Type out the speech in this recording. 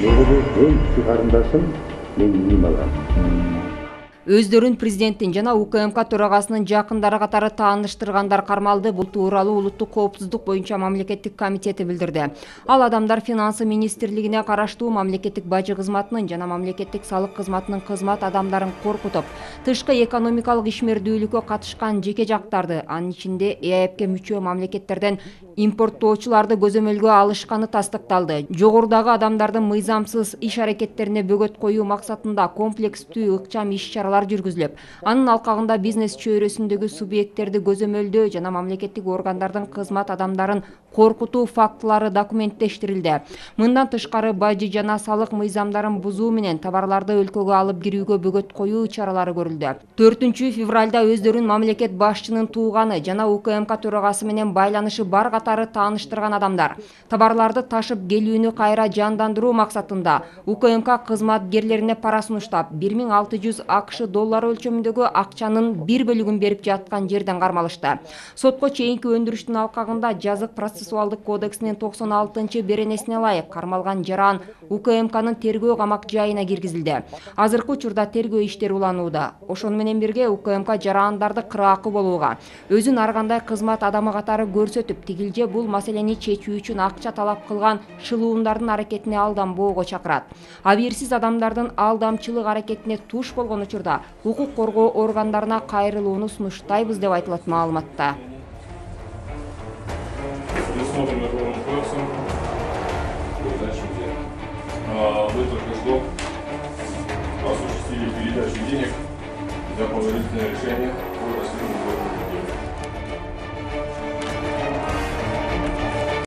Негизи эң кичи карындашым мен ийим алгам. Өздөрүн президенттин жана УКМК төрагасынын жакындары катары тааныштыргандар кармалды. Бул тууралуу Улуттук коопсуздук боюнча мамлекеттик комитети билдирди. Ал адамдар финансы министрлигине караштуу мамлекеттик бажы кызматынын жана мамлекеттик салык кызматынын кызмат адамдарын коркутуп, тышкы экономикалык ишмердүүлүккө катышкан жеке жактарды, анын ичинде ЭАЭПке мүчө мамлекеттерден импорттоочуларды көзөмөлгө алышканы тастыкталды. Жогорудагы адамдардын мыйзамсыз иш аракеттерине бөгөт коюу максатында комплекстүү ыкчам иш-чаралар жүргүзүлүп, анын алкагында бизнес чөйрөсүндөгү субъекттерди көзөмөлдөө жана мамлекеттик органдардын кызмат адамдарын коркутуу фактылары документтештирилди. Мындан тышкары бажы жана салык мыйзамдарын бузуу менен товарларды өлкөгө алып кирүүгө бөгөт коюу чаралары көрүлдү. 4 февралда өздөрүн мамлекет башчынын тууганы жана УКМК төрагасы менен байланышы бар катары тааныштырган адамдар товарларды ташып келүүнү кайра жандандыруу максатында УКМК кызматкерлерине пара сунуштап 1600 АКШ доллары өлчөмүндөгү акчанын бир бөлүгүн берип жаткан жерден кармалышты. Сотко чейинки өндүрүштүн алкагында жазык процессуалдык кодексинин 96-беренесине ылайык кармалган жаран УКМКнын тергөө камак жайына киргизилди. Азыркы учурда тергөө иштери уланууда. Ошону менен бирге УКМК жарандарды кыраакы болууга, өзүн ар кандай кызмат адамы катары көрсөтүп, тигилже бул маселени чечүү үчүн акча талап кылган шылуумдардын аракетине алданбоого чакырат. Абийирсиз адамдардын алдамчылык аракетине туш болгон учурда укук коргоо органдарына кайрылууну сунуштайбыз деп айтылат маалыматта.